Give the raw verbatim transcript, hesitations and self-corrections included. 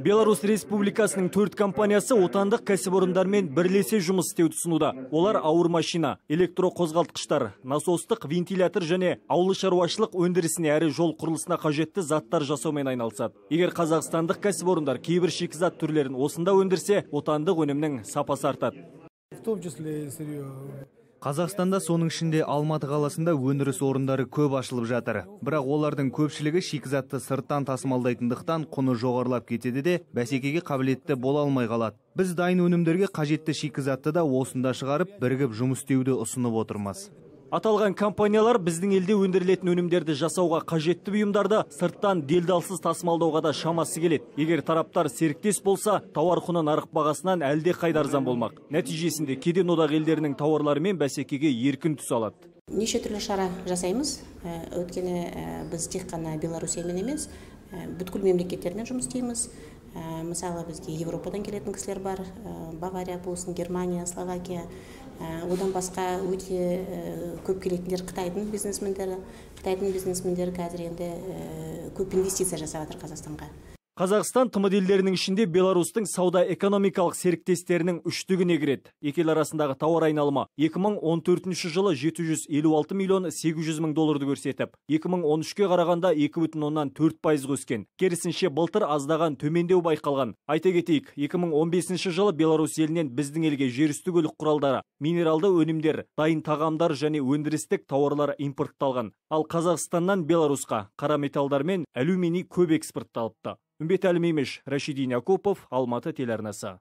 Беларусь Республикасының төрт компаниясы отандық кәсіпорындармен бірлесе жұмыс істеуді ұсынуда. Олар ауыр машина, электроқозғалтқыштар, насостық, вентилятор және ауыл шаруашылық өндірісіне әрі жол құрылысына қажетті заттар жасаумен айналысады. Егер қазақстандық кәсіпорындар кейбір шикізат түрлерін осында өндірсе, отандық өнімнің сапасы артады. Қазақстанда соның ішінде Алматы қаласында өндіріс орындары көп ашылып жатыр. Бірақ олардың көпшілігі шикізатты сырттан тасымалдайтындықтан құны жоғарылап кетеді де, бәсекеге қабілетті бола алмай қалады. Біз дайын өнімдерге қажетті шикізатты да осында шығарып, бірігіп жұмыс істеуді ұсынып отырмыз. Аталған компаниялар біздің елде өндірілетін өнімдерді жасауға қажетті бұйымдарды сырттан делдалсыз тасымалдауға да шамасы келеді. Егер тараптар серіктес болса, тауар құны нарық бағасынан әлде қайда арзан болмақ. Нәтижесінде кеден одақ елдерінің тауарларымен бәсекеге еркін түсе алады. Неше түрлі шара жасаймыз. Өткені біз тек қана Беларусиямен емес, бүткіл мемлекеттермен жұмыс істейміз. Мысалы, бізге Европадан келетін кісілер бар, Бавария болсын, Германия, Словакия. Одан басқа өте көп келетіндер Қытайдың бизнесмендері. Қытайдың бизнесмендері қазір енді көп инвестиция жасап жатыр Қазақстанға. Қазақстан тмд елдерінің ішінде Беларусьтың сауда-экономикалық серіктестерінің үштігіне кіреді. Екі ел арасындағы тауар айналымы екі мың он төртінші жылы жеті жүз елу алты миллион сегіз жүз мың долларды көрсетіп, екі мың он үшке қарағанда екі бүтін оннан төрт пайызға өскен. Керісінше былтыр аздаған төмендеу байқалған. Айта кетейік, екі мың он бесінші жылы Беларусь елінен біздің елге жерүсті көлік құралдары, минералды өнімдер, дайын тағамдар және өндірістік тауарлар импортталған. Ал Қазақстаннан Беларусьқа қара металдар мен алюминий көп экспортталыпты. Үмбет Әлмеймеш, Рашидин Якупов, Алматы телеарнасы.